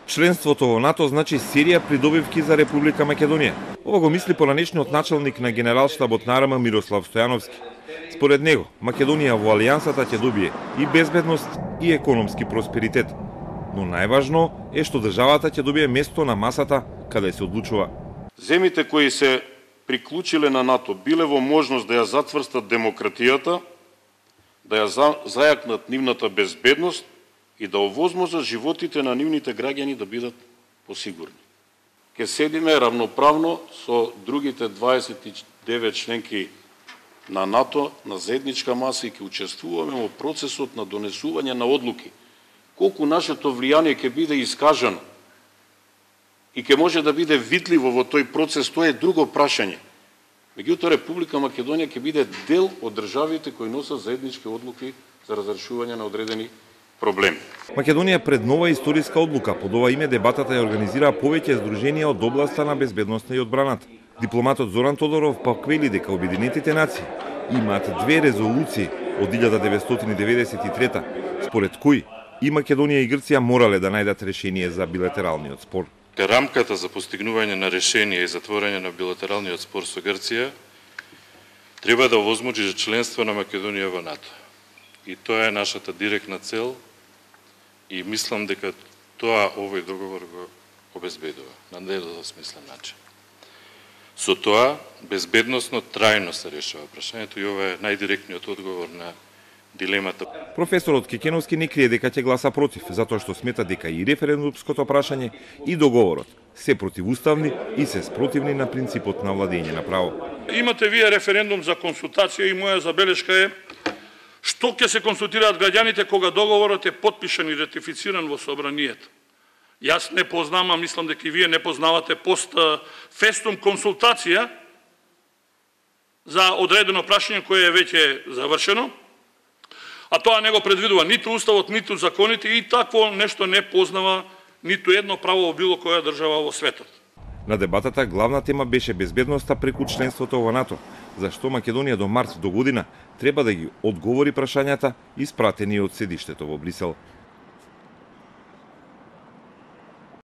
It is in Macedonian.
Членството во НАТО значи серија придобивки за Република Македонија. Ова го мисли поранешниот началник на Генералштабот на АРМА Мирослав Стојановски. Според него, Македонија во алијансата ќе добие и безбедност и економски просперитет. Но најважно е што државата ќе добие место на масата каде се одлучува. Земите кои се приклучиле на НАТО биле во можност да ја затврстат демократијата, да ја зајакнат нивната безбедност и да овозможат животите на нивните граѓани да бидат посигурни. Ке седиме равноправно со другите 29 членки на НАТО на заедничка маса и ќе учествуваме во процесот на донесување на одлуки. Колку нашето влијание ќе биде искажано и ќе може да биде видливо во тој процес, тоа е друго прашање. Меѓутоа, Република Македонија ќе биде дел од државите кои носат заеднички одлуки за разрешување на одредени проблеми. Македонија пред нова историска одлука. Под ова име дебатата ја организира повеќе здруженија од областа на безбедноста и одбраната. Дипломатот Зоран Тодоров пак вели дека Обединетите нации имаат две резолуции од 1993 според кои и Македонија и Грција морале да најдат решение за билатералниот спор. Рамката за постигнување на решение и затворање на билатералниот спор со Грција треба да овозможи за членство на Македонија во НАТО. И тоа е нашата директна цел и мислам дека тоа овој договор го обезбедува на недвосмислен начин. Со тоа безбедносно трајно се решава прашањето и ова е најдиректниот одговор на дилемата. Професорот Кекеновски не крие дека ќе гласа против, затоа што смета дека и референдумското прашање и договорот се противуставни и се спротивни на принципот на владење на право. Имате вие референдум за консултација и моја забелешка е што ќе се консултираат граѓаните кога договорот е потпишан и ратифициран во собранието. Јас не познам, а мислам дека и вие не познавате пост фестум консултација за одредено прашање кое е веќе завршено, а тоа не го предвидува ниту уставот, ниту законите и такво нешто не познава ниту едно право во било која држава во светот. На дебатата главна тема беше безбедноста преку членството во НАТО, зашто Македонија до март до година треба да ги одговори прашањата испратени од седиштето во Брисел.